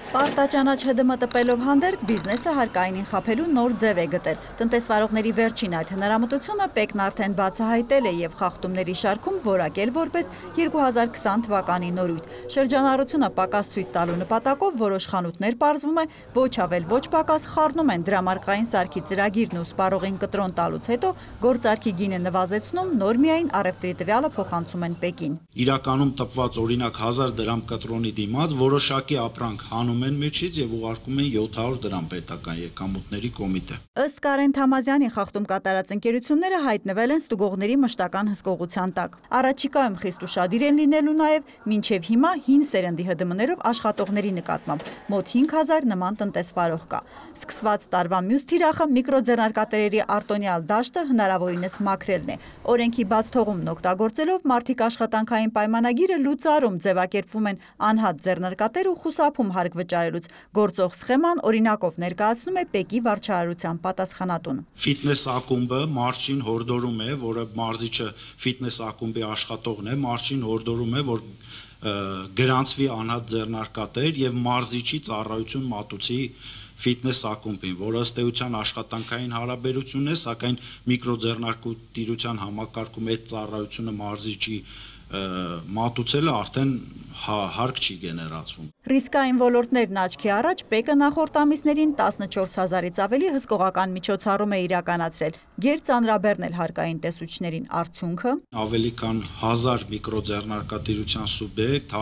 Պարտաճանաչ ՀԴՄ տպելով հանդերձ բիզնեսը հարկայինին խաբելու նոր ձև է գտել։ Տնտեսվարողների վերջին այդ հնարամտությունը ՊԵԿ-ն արդեն բացահայտել է եւ խախտումների շարքում որակել որպես 2020 թվականի նորույթ։ Շրջանառությունը պակաս ցույց տալու նպատակով որոշ խանութներ պարզվում է ոչ ավել ոչ պակաս խառնում են դրամարկղային սարքի ծրագիրն ու սպառողին կտրոն տալուց հետո գործարքի գինը նվազեցնում, նոր միայն առևտրի տվյալը փոխանցում են ՊԵԿ-ին։ Իրականում տպված օրինակ 1000 դրամ կտրոնի դիմաց որոշակի ապրանք հանում են մեջից եւ ուղարկում են 700 դրամ պետական եկամուտների կոմիտե։ Ըստ Կարեն Թամազյանի խախտում կատարած ընկերությունները հայտնվել են ստուգողների մշտական հսկողության տակ։ Առաջիկայում խիստ ուշադիր են լինելու նաեւ մինչեւ հիմա հին սերնդի ՀԴՄ-ներով աշխատողների նկատմամբ մոտ 5000 նման տնտեսվարող կա։ Սկսված տարվա մյուս թիրախը միկրոձեռնարկատերերի արտոնյալ դաշտը հնարավորինս մաքրելն է։ Օրենքի բաց թողումն օգտագործելով մարդիկ աշխատանքային պայմանագիրը լուծարում ձևակերպվում են անհատ ձեռնարկատեր ու խուսափում հարկ վճարելուց։ Գործող սխեման օրինակով ներկայացնում է ՊԵԿ-ի վարչարարության պատասխանատուն։ Ֆիթնես ակումբը մարզչին հորդորում է, որը մարզիչը ֆիթնես ակումբի աշխատողն է, մարզչին հորդորում է, որ գրանցվի անհատ ձեռնարկատեր եւ մարզիչի ծառայություն մատուցի ֆիթնես ակումբին, որը ըստ էության աշխատանքային հարաբերություն է, սակայն միկրոձեռնարկատիրության համակարգում այդ ծառայությունը մարզիչի մատուցելը արդեն հարկ չի գեներացվում։ Ռիսկային ոլորտներն աչքի առաջ ՊԵԿ-ը նախորդ ամիսներին 14000-ից ավելի հսկողական միջոցառում է իրականացրել։ Գերծանրաբեռնել հարկային տեսուչներին արդյունքը ավելի քան 1000 միկրոձեռնարկատիրության սուբյեկտ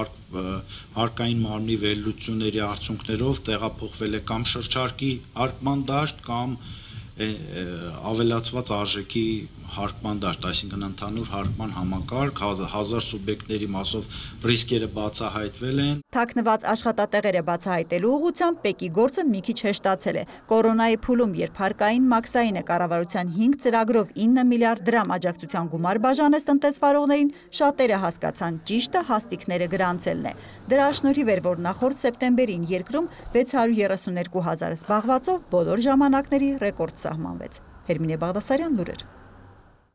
հարկային մարմնի վերլուծությունների արդյունքներով տեղափոխվել է կամ շրջարկի հարկման դաշտ կամ ավելացված արժեքի հարկման դաշտ, այսինքն ընդհանուր հարկման համակարգ 1000 սուբյեկտների մասով ռիսկերը բացահայտվել են։ Թաքնված աշխատատեղերը բացահայտելու ուղղությամբ ՊԵԿ-ի գործը մի քիչ հեշտացել է։ Կորոնայի փուլում, երբ հարկային մաքսայինը կառավարության 5 ծրագրով 9 միլիարդ դրամ աջակցության գումար բաժանեց տնտեսվարողներին, շատերը հասկացան ճիշտը հաստիկները գրանցելն է։ Դրա շնորհիվ էր, որ նախորդ սեպտեմբերին երկրում 632 000 զբաղվածով բոլոր ժամանակների ռեկորդ սահմանվեց։ Հերմինե Բաղդասարյան, լուրեր։